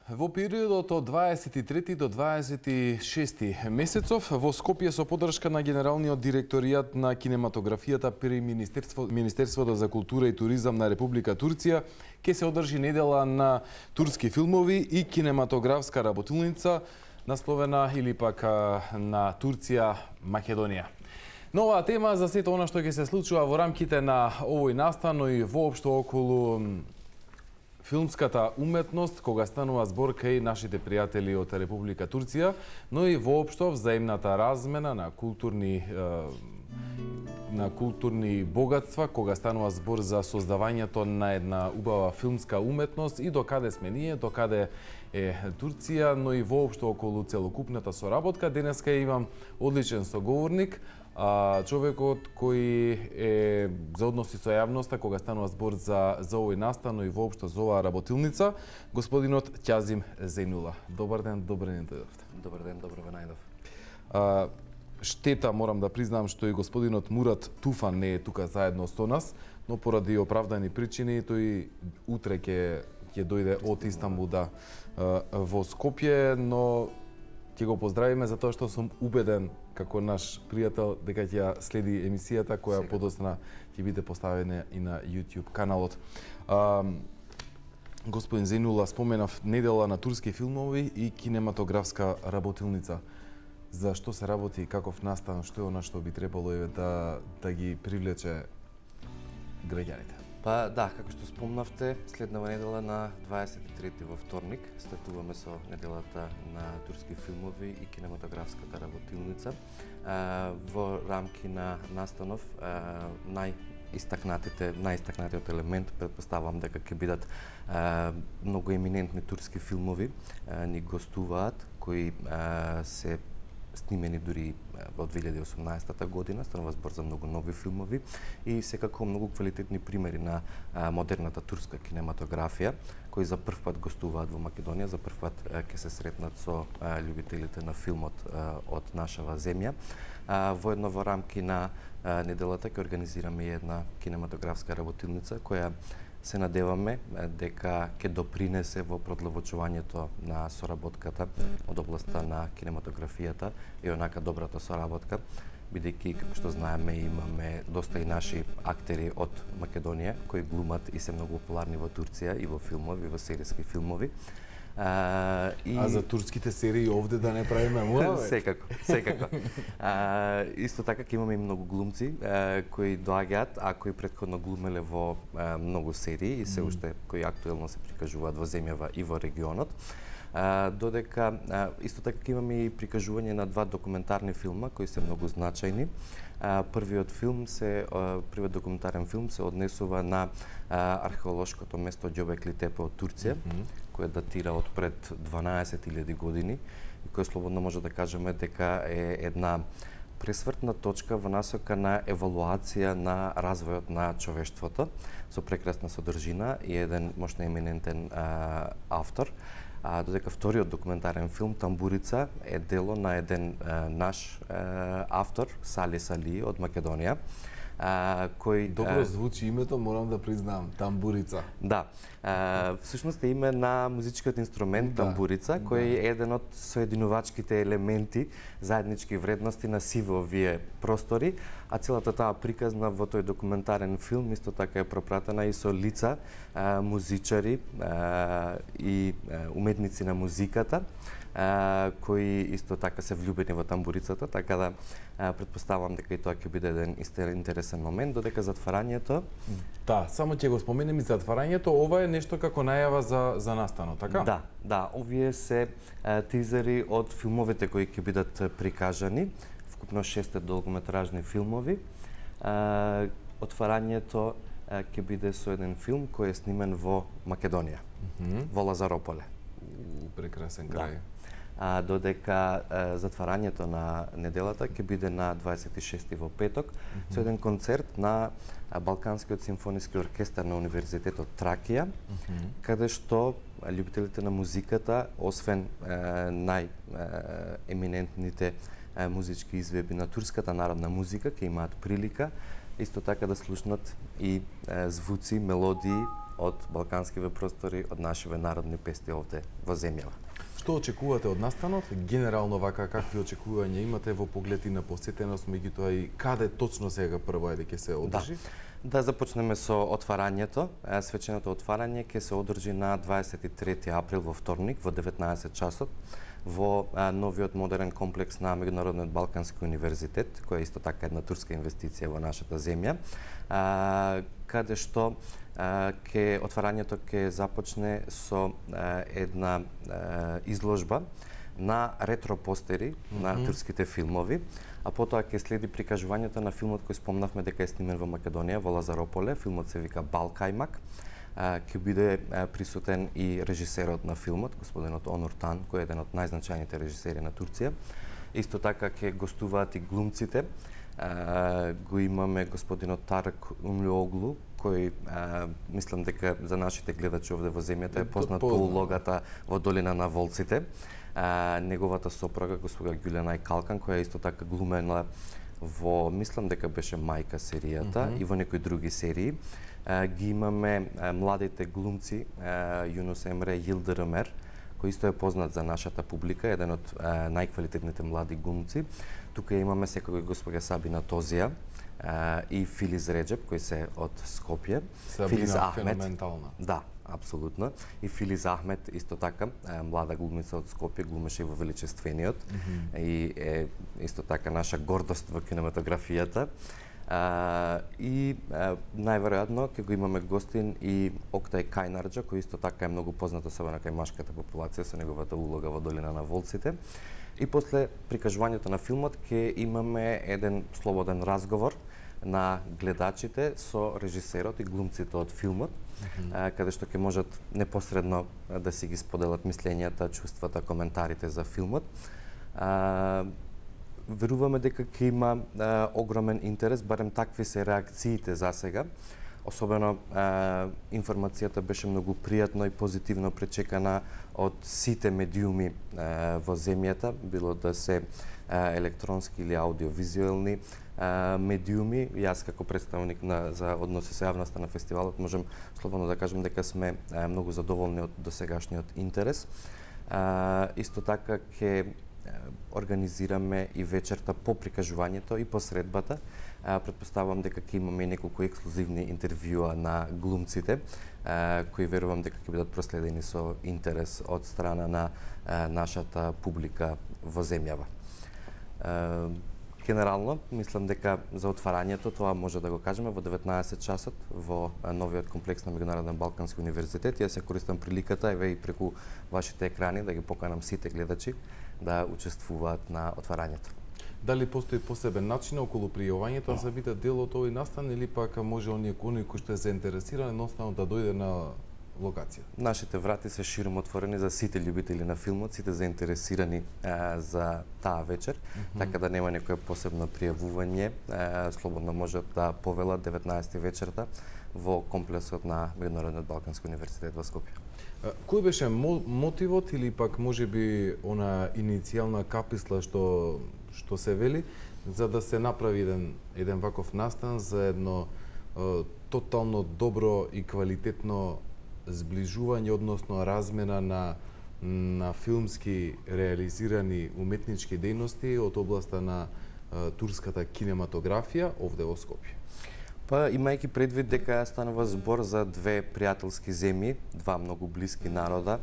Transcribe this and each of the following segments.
Во периодот од 23 до 26 месецов во Скопје со поддршка на Генералниот директоријат на кинематографијата при Министерството за култура и туризам на Република Турција ќе се одржи недела на турски филмови и кинематографска работилница насловена или пак на Турција Македонија. Нова тема за сето она што ќе се случува во рамките на овој настан, но и воопшто околу филмската уметност, кога станува збор кај нашите пријатели од Република Турција, но и воопшто взаимната размена на културни богатства, кога станува збор за создавањето на една убава филмска уметност и докаде сме ние, докаде е Турција, но и воопшто околу целокупната соработка. Денеска имам одличен соговорник, човекот кој е за односи со јавноста кога станува збор за овој настан, но и воопшто за оваа работилница, господинот Ќазим Зејнула. Добар ден, добре ни дојдовте. Добар ден, добро ве најдов. Штета, морам да признам, што и господинот Мурат Туфан не е тука заедно со нас, но поради оправдани причини тој утре ќе дојде од Истанбул во Скопје, но ќе го поздравиме за тоа што сум убеден како наш пријател дека ќе следи емисијата која подоцна ќе биде поставена и на YouTube каналот. Господин Зејнула, споменав недела на турски филмови и кинематографска работилница. За што се работи, каков настан, што е она што би требало да ги привлече граѓаните? Па да, како што спомнавте, следнава недела на 23 во вторник стартуваме со неделата на турски филмови и кинематографската работилница. Во рамки на настанов најистакнатиот елемент, претпоставам дека ќе бидат многу еминентни турски филмови ни гостуваат, кои се снимени дури во 2018 година, станува збор за многу нови филмови и секако многу квалитетни примери на модерната турска кинематографија, кои за прв пат гостуваат во Македонија, за прв пат ќе се сретнат со љубителите на филмот од нашава земја. Воедно во рамки на неделата ќе организираме една кинематографска работилница која се надеваме дека ќе допринесе во продлабочувањето на соработката од областа на кинематографијата и онака добрата соработка, бидејќи, како што знаеме, имаме доста и наши актери од Македонија кои глумат и се многу популарни во Турција и во филмови, во серијски филмови. А за турските серии овде да не правиме мора? Секако. Исто така ќе имаме и многу глумци кои доаѓаат, а кои претходно глумеле во многу серии и се уште кои актуелно се прикажуваат во земјава и во регионот. Додека исто така ќе имаме и прикажување на два документарни филма кои се многу значајни. Првиот документарен филм се однесува на археолошкото место Ѓобекли Тепе од Турција, кој датира од пред 12.000 години и кој слободно може да кажеме дека е една пресвртна точка во насока на евалуација на развојот на човештвото со прекрасна содржина и еден можно еминентен автор. Додека вториот документарен филм Тамбурица е дело на еден наш автор, Сали Сали од Македонија, кој добро звучи името, морам да признам, Тамбурица. Да. Всушност е име на музичкиот инструмент тамбурица, кој е еден од соединувачките елементи, заеднички вредности на сиве овие простори, а целата таа приказна во тој документарен филм исто така е пропратена и со лица, музичари и уметници на музиката, кои исто така се влюбени во тамбурицата, така да претпоставам дека и тоа ќе биде еден интересен момент, додека затварањето... Да, само ќе го споменем и затварањето, ова е нешто како најава за настанот, така? Да, овие се тизери од филмовите кои ќе бидат прикажани, вкупно 6 долгометражни филмови. Отварањето ќе биде со еден филм кој е снимен во Македонија, во Лазарополе. Прекрасен крај. Додека затварањето на неделата ќе биде на 26 во петок со еден концерт на Балканскиот симфониски оркестар на Универзитетот Тракија, каде што љубителите на музиката, освен најеминентните музички изведби на турската народна музика, ќе имаат прилика исто така да слушнат и звуци, мелодии од балканскиве простори, од нашиве народни песни овде во земјава. Што очекувате од настанот? Генерално вака, какви очекувања имате во поглед и на посетеност, меѓутоа и каде точно сега прво ќе се одржи? Да започнеме со отварањето. Свеченото отварање ќе се одржи на 23 април во вторник во 19 часот во новиот модерен комплекс на Меѓународниот Балкански универзитет, која е исто така една турска инвестиција во нашата земја, каде што отварањето ќе започне со една изложба на ретро постери на турските филмови, а потоа ќе следи прикажувањето на филмот кој спомнавме дека е снимен во Македонија, во Лазарополе. Филмот се вика Балкајмак. Ќе биде присутен и режисерот на филмот, господинот Онур Тан, кој е еден од најзначајните режисери на Турција. Исто така ќе гостуваат и глумците. Го имаме господинот Тарык Умлиоглу, кој мислам дека за нашите гледачи овде во земјата е познат по улогата во Долина на волците. Неговата сопруга, госпожа Ѓулена Калкан, која исто така глумела во, мислам дека беше Мајка серијата и во некои други серии. Ги имаме младите глумци Јунус Емре и Йилдыр Ömer, кој исто е познат за нашата публика, еден од најквалитетните млади глумци. Тука имаме секој госпожа Сабина Тозија и Филиз Реджеп, кои се од Скопје. Сабина феноменална. Да, апсолутно. И Филиз Ахмет, исто така, млада глумица од Скопје, глумеше и во Величествениот. И е исто така наша гордост во кинематографијата. И најверојатно ќе го имаме гостин и Октај Кајнарџа, кој исто така е многу познат особено кај машката популација со неговата улога во Долина на волците. И после прикажувањето на филмот ќе имаме еден слободен разговор на гледачите со режисерот и глумците од филмот, каде што ќе можат непосредно да си ги споделат мислењата, чувствата, коментарите за филмот. Веруваме дека ќе има огромен интерес, барем такви се реакциите за сега. Особено информацијата беше многу пријатно и позитивно пречекана од сите медиуми во земјата, било да се електронски или аудиовизуелни медиуми. Јас како представник за односи со јавноста на фестивалот можам слободно да кажам дека сме многу задоволни од досегашниот интерес. Исто така ќе организираме и вечерта по прикажувањето и по средбата. Претпоставувам дека ќе имаме неколку ексклузивни интервјуа на глумците, кои верувам дека ќе бидат проследени со интерес од страна на нашата публика во земјава. Генерално, мислам дека за отварањето тоа може да го кажеме во 19 часот во новиот комплекс на Меѓународен Балкански универзитет. Јас се користам приликата и преку вашите екрани да ги поканам сите гледачи да учествуваат на отварањето. Дали постои посебен начин околу пријавањето за биде дел од овој настан или пак може оние кои што е заинтересиран едноставно да дојде на локација? Нашите врати се широм отворени за сите љубители на филмот, сите заинтересирани за таа вечер, така да нема некое посебно пријавување, слободно можат да повелат 19 вечерта во комплексот на Меѓународниот Балкански универзитет во Скопје. Кој беше мотивот или пак можеби она иницијална каписла што се вели за да се направи еден ваков настан за едно тотално добро и квалитетно зближување, односно размена на филмски реализирани уметнички дејности од областа на турската кинематографија овде во Скопје? Па, имајќи предвид дека станува збор за две пријателски земји, два многу блиски народа,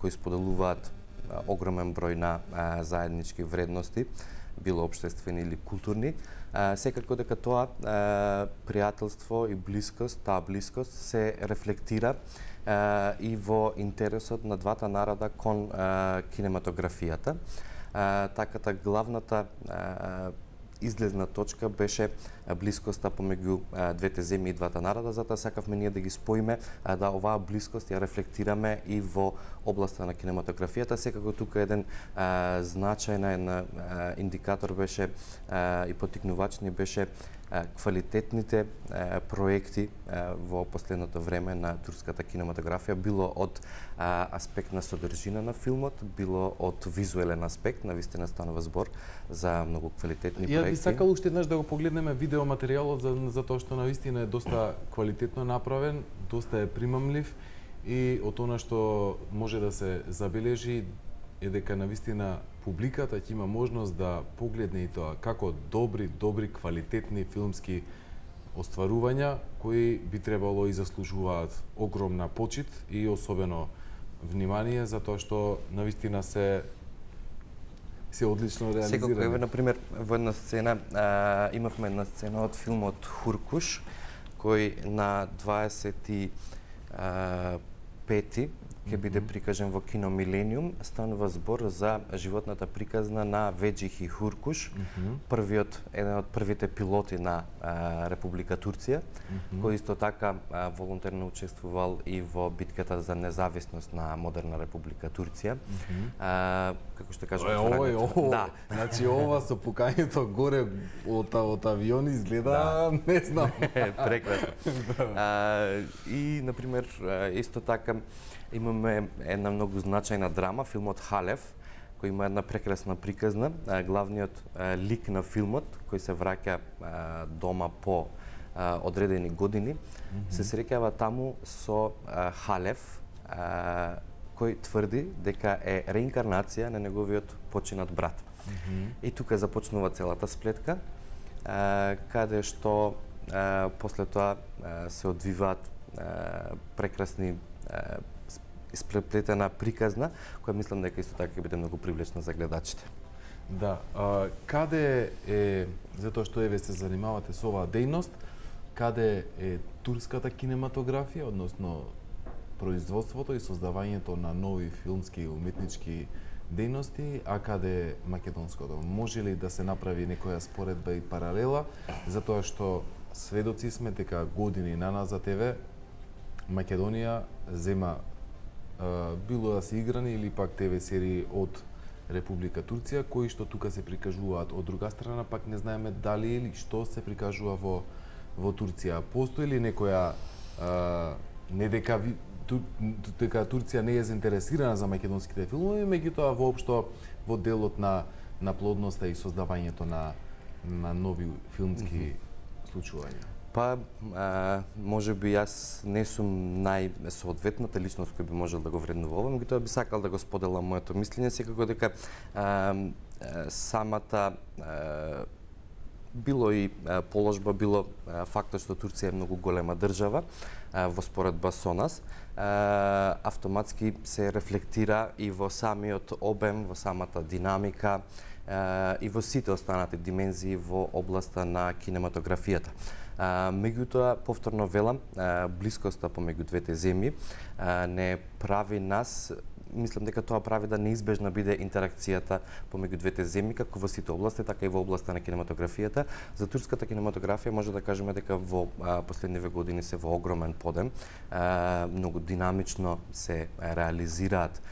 кои споделуваат огромен број на заеднички вредности, било општествени или културни, секако дека тоа пријателство и блискост, таа блискост се рефлектира и во интересот на двата народа кон кинематографијата. Таката главната излезна точка беше блискоста помеѓу двете земји и двата народа, затоа сакавме ние да ги споиме, да оваа блискост ја рефлектираме и во областа на кинематографијата. Секако тука еден значајна индикатор беше и поттикнувач ни беше квалитетните проекти во последното време на турската кинематографија, било од аспект на содржина на филмот, било од визуелен аспект, навистина станува збор за многу квалитетни проекти. Ја би сакал уште еднаш да го погледнеме видеоматеријалот за тоа што навистина е доста квалитетно направен, доста е примамлив и од она што може да се забележи е дека навистина публиката ќе има можност да погледне и тоа како добри, квалитетни филмски остварувања кои би требало и заслужуваат огромна почит и особено внимание затоа што навистина се одлично реализирани. Секако, еве например во една сцена имавме една сцена од филмот Хуркуш кој на 25 ќе биде прикажен во кино Милениум. Станува збор за животната приказна на Веджих и Хуркуш, еден од првите пилоти на Република Турција, кој исто така волонтерно учествувал и во битката за независност на модерна Република Турција. Како што кажам, да. Значи ова со пукањето горе од авиони изгледа, не знам. Прекрасно. И на пример исто така имаме една многу значајна драма, филмот Халев, кој има една прекрасна приказна. Главниот лик на филмот, кој се враќа дома по одредени години, се среќава таму со Халев, кој тврди дека е реинкарнација на неговиот починат брат. И тука започнува целата сплетка, каде што после тоа се одвиваат прекрасни испреплетена приказна, која мислам дека исто така ќе биде многу привлечна за гледачите. Да, каде е, затоа што еве се занимавате со оваа дејност, каде е турската кинематографија, односно производството и создавањето на нови филмски и уметнички дејности, а каде е македонското? Може ли да се направи некоја споредба и паралела, затоа што сведоци сме дека години наназад еве Македонија зема било да се играни или пак ТВ серии од Република Турција, кои што тука се прикажуваат. Од друга страна, пак не знаеме дали или што се прикажува во Турција. Постои ли некоја не дека Турција не е заинтересирана за македонските филмови, меѓутоа воопшто во делот на плодноста и создавањето на нови филмски случувања? Па, може би јас не сум најсоодветната личност кој би можел да го вреднува ова, меѓутоа би сакал да го споделам моето мислење, секако дека самата било и положба, било фактот што Турција е многу голема држава во споредба со нас, автоматски се рефлектира и во самиот обем, во самата динамика и во сите останати димензии во областа на кинематографијата. Меѓутоа, повторно велам, блискоста помеѓу двете земји не прави нас, мислам дека тоа прави да неизбежна биде интеракцијата помеѓу двете земји, како во сите области, така и во областа на кинематографијата. За турската кинематографија може да кажеме дека во последниве години се во огромен подем, многу динамично се реализираат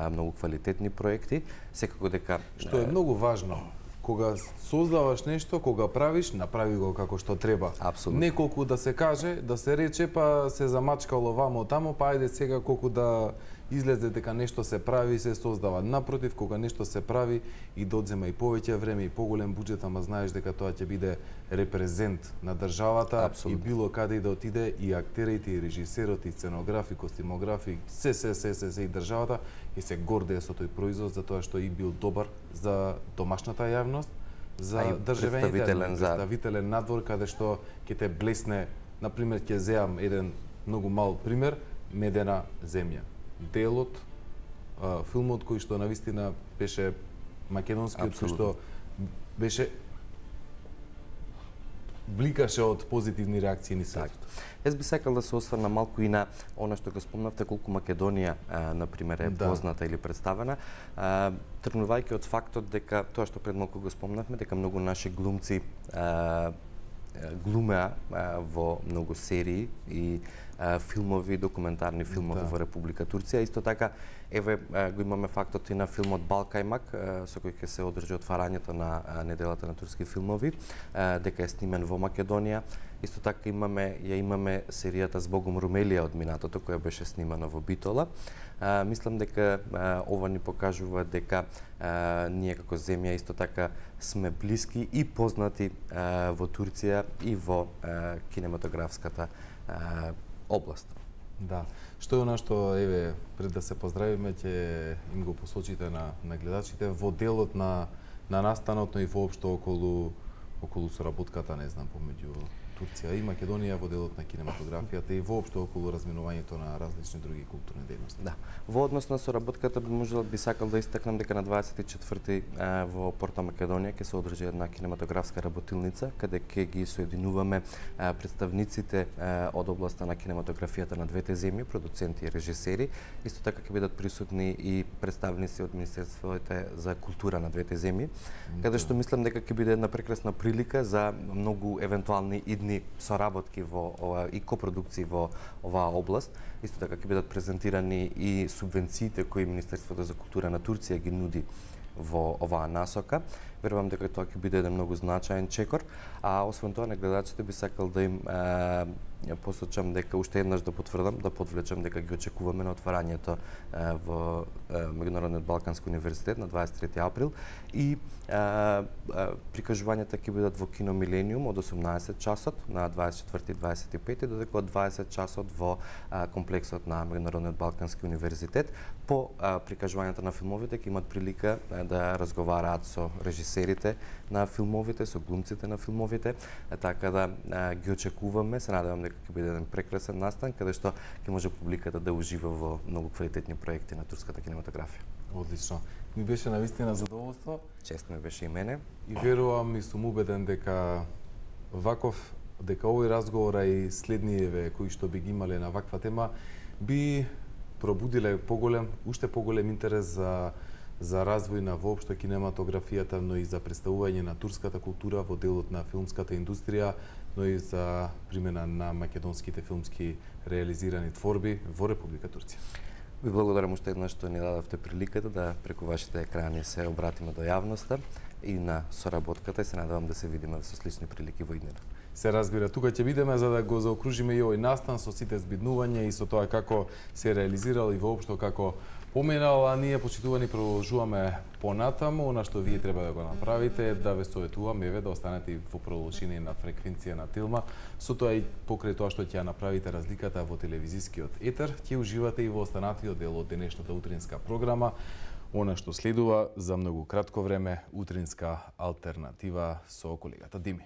многу квалитетни проекти, секако дека што е многу важно. Кога создаваш нешто, кога правиш, направи го како што треба. Апсолутно. Неколку да се каже, да се рече, па се замачкало вамо тамо, па ајде сега колку да излезе дека нешто се прави и се создава. Напротив, кога нешто се прави и додзема и повеќе време и поголем буџет, ама знаеш дека тоа ќе биде репрезент на државата. Апсолутно. И било каде и да отиде, и актерите, и режисерот, и сценографи, костимографи, се и државата и се гордее со тој производ затоа што и бил добар за домашната јавност, за државените, представителен надвор каде што ќе те блесне. Например, ќе земам еден многу мал пример, Медена земја. Делот, филмот кој што навистина беше македонскиот, кој што беше бликаше од позитивни реакции низ светот. Јас би сакал да се осврна малку и на она што го спомнавте, колку Македонија, например, е позната или представена, тргнувајќи од фактот дека тоа што пред малку го спомнавме, дека многу наши глумци глумеа во многу серии и филмови, документарни филмови во Република Турција. Исто така, еве го имаме фактот и на филмот Балкајмак, со кој ќе се одржи отварањето на неделата на турски филмови, дека е снимен во Македонија. Исто така имаме серијата Збогом Румелија од минатото, која беше снимана во Битола. Мислам дека ова ни покажува дека ние како земја исто така сме блиски и познати во Турција и во кинематографската област. Да. Што е она што, еве, пред да се поздравиме, ќе им го посочите на гледачите во делот на настанот, но и воопшто околу соработката, не знам, помеѓу Турција и Македонија во делот на кинематографијата и воопшто околу разминувањето на различни други културни дејности. Да. Во однос на соработката би сакал да истакнам дека на 24 во Порто Македонија ќе се одржи една кинематографска работилница каде ќе ги соединуваме представниците од областа на кинематографијата на двете земји, продуценти и режисери. Исто така ќе бидат присутни и представници од Министерството за култура на двете земји, каде што мислам дека ќе биде една прекрасна прилика за многу евентуални идни соработки и копродукции во оваа област. Исто така ќе бидат презентирани и субвенциите кои Министерството за култура на Турција ги нуди во оваа насока. Верувам дека тоа ќе биде еден многу значаен чекор, а освен тоа на гледачите би сакал да им посочам дека уште еднаш да потврдам, да подвлечам дека ги очекуваме на отварањето во Меѓународниот Балкански универзитет на 23 април и прикажувањата ќе бидат во Кино Милениум од 18 часот на 24 и 25 додека од 20 часот во комплексот на Меѓународниот Балкански универзитет. По прикажувањата на филмовите ќе имат прилика да разговараат со режисерите на филмовите, со глумците на филмовите, така да ги очекуваме. Се надевам дека ќе биде еден прекрасен настан каде што ќе може публиката да ужива во многу квалитетни проекти на турската кинематографија. Одлично. Ми беше навистина задоволство. Чест ме беше и мене. И верувам и сум убеден дека овој разговор и следниеве кои што би ги имале на ваква тема би пробудиле уште поголем интерес за развој на воопшто кинематографијата, но и за представување на турската култура во делот на филмската индустрија, но и за примена на македонските филмски реализирани творби во Република Турција. Ви благодарам уште еднаш што ни дадовте приликата да преку вашите екрани се обратиме до јавноста и на соработката и се надевам да се видиме со слични прилики во иднина. Се разбира, тука ќе бидеме за да го заокружиме и овој настан со сите збиднувања и со тоа како се реализирал и воопшто како поминал, а ние почитувани продолжуваме понатаму. Она што вие треба да го направите е да ве советувам еве да останете во продолжение на фреквенција на Телма. Со тоа и покрај тоа што ќе направите разликата во телевизискиот етер, ќе уживате и во останатиот дел од денешната утринска програма. Она што следува за многу кратко време, утринска алтернатива со колегата Дими.